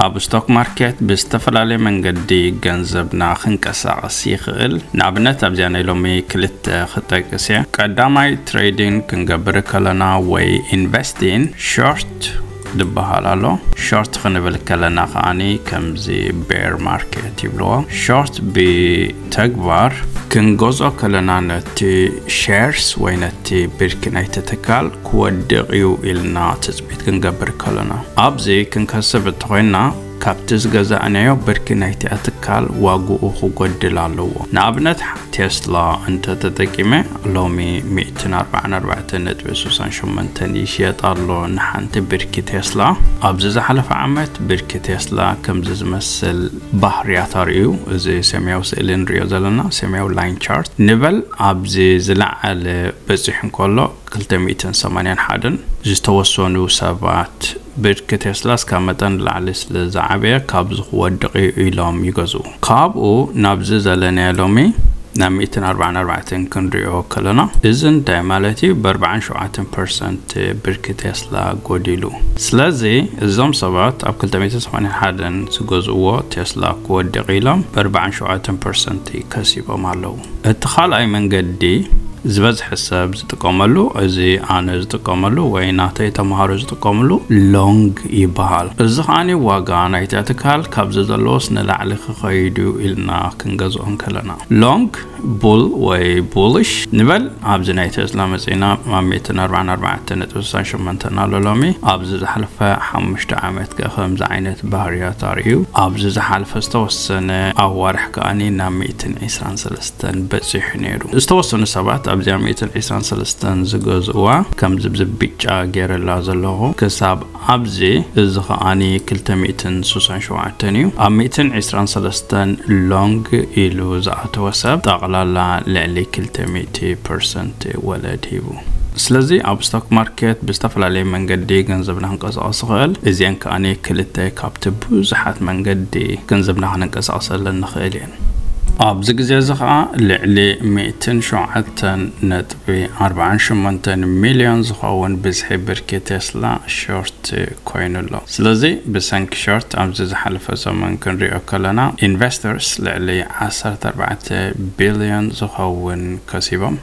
ኣብ ስቶክ ማርኬት ብዝተፈላለየ መንገዲ ገንዘብና ክንቀሳቐስ ይኽእል። ንኣብነት ኣብዚኣ ናይ ሎሚ ክልተ ክጠቅስ እየ። ቀዳማይ ትሬዲንግ ክንገብር ከለና ወይ ኢንቨስቲንግ ሾርት ዝበሃል ኣሎ። ሾርት ክንብል ከለና ከዓኒ ከምዚ ቤር ማርኬት ይብልዎ። ሾርት ብተግባር ክንገዝኦ ከለና ነቲ ሼርስ ወይ ነቲ ብርኪ ናይቲ ትካል ክወድቕ እዩ ኢልና ትጽቢት ክንገብር ከለና፣ ኣብዚ ክንከስብ እንተኾይና ካብቲ ዝገዛእናዮ ብርኪ ናይቲኣ ትካል ዋግኡ ክጎድል ኣለዎ። ንኣብነት ቴስላ እንተተጠቂመ ሎሚ ሚእትን ኣርባዓን ኣርባዕተን ነጥቢ ስሳን ሸሞንተን ይሽየጥ ኣሎ ንሓንቲ ብርኪ ቴስላ። ኣብዚ ዝሓለፈ ዓመት ብርኪ ቴስላ ከምዚ ዝመስል ባህርያት ኣርእዩ። እዚ ሰማያዊ ስእሊ ንሪኦ ዘለና ሰማያዊ ላይን ቻርት ንበል ኣብዚ ዝለዓለ በፂሑ እንከሎ ክልተ ሚእትን ሰማንያን ሓደን ዝተወሰኑ ሰባት ብርኪ ቴስላ እስካብ መጠን ንላዕሊ ስለ ዝዓበየ ካብዚ ክወድቕ እዩ ኢሎም ይገዝኡ። ካብኡ ናብዚ ዘለናዮ ሎሚ ናብ ሚእትን ኣርባዓን ኣርባዕተን ክንሪኦ ከለና እዚ እንታይ ማለት እዩ? ብኣርባዓን ሸውዓተን ፐርሰንት ብርኪ ቴስላ ጎዲሉ። ስለዚ እዞም ሰባት ኣብ ክልተ ሚእትን ሰማንያን ሓደን ዝገዝእዎ ቴስላ ክወድቕ ኢሎም ብኣርባዓን ሸውዓተን ፐርሰንት ከሲቦም ኣለዉ። እቲ ካልኣይ መንገዲ ዝበዝሐ ሰብ ዝጥቀመሉ፣ እዚ ኣነ ዝጥቀመሉ ወይ ናተይ ተምሃሮ ዝጥቀምሉ ሎንግ ይበሃል። እዚ ከዓኒ ዋጋ ናይቲ ትካል ካብዚ ዘለዎስ ንላዕሊ ክኸይድ እዩ ኢልና ክንገዝኦ እንከለና። ሎንግ ቡል ወይ ቡልሽ ንበል ኣብዚ ናይ ቴስላ መጺና ኣብ ሚእትን ኣርባዓን ኣርባዕተን ነጥቢ ስሳን ሸሞንተን ኣሎ ሎሚ። ኣብዚ ዝሓለፈ ሓሙሽተ ዓመት ከ ከምዚ ዓይነት ባህርያት ኣርእዩ። ኣብዚ ዝሓለፈ ዝተወሰነ ኣዋርሕ ከዓኒ ናብ ሚእትን ዕስራን ሰለስተን በጺሑ ነይሩ። ዝተወሰኑ ሰባት ኣብዚኣ ሚእትን ዕስራን ሰለስተን ዝገዝእዋ ከምዚ ብዚ ብጫ ገይረላ ዘለኹ ክሳብ ኣብዚ፣ እዚ ከዓኒ ክልተ ሚእትን ስሳን ሸውዓተን እዩ። ኣብ ሚእትን ዕስራን ሰለስተን ሎንግ ኢሉ ዝኣተወ ሰብ ጠቕላላ ልዕሊ ክልተ ሚእቲ ፐርሰንት ወለድ ሂቡ። ስለዚ ኣብ ስቶክ ማርኬት ብዝተፈላለየ መንገዲ ገንዘብና ክንቀሳቐስ ይኽእል። እዚአን ከዓኒ ክልተ ካብቲ ብዙሓት መንገዲ ገንዘብና ክንንቀሳቐሰለን ንኽእል እየን። ኣብዚ ግዜ እዚ ኸዓ ልዕሊ ሚእትን ሸውዓተን ነጥቢ ኣርባዓን ሸሞንተን ሚልዮን ዝኸውን ብዝሒ ብርኪ ቴስላ ሾርት ኮይኑ ኣሎ። ስለዚ ብሰንኪ ሾርት ኣብዚ ዝሓለፈ ሰሙን ክንሪኦ ከለና ኢንቨስተርስ ልዕሊ ዓሰርተ ኣርባዕተ ቢልዮን ዝኸውን ከሲቦም።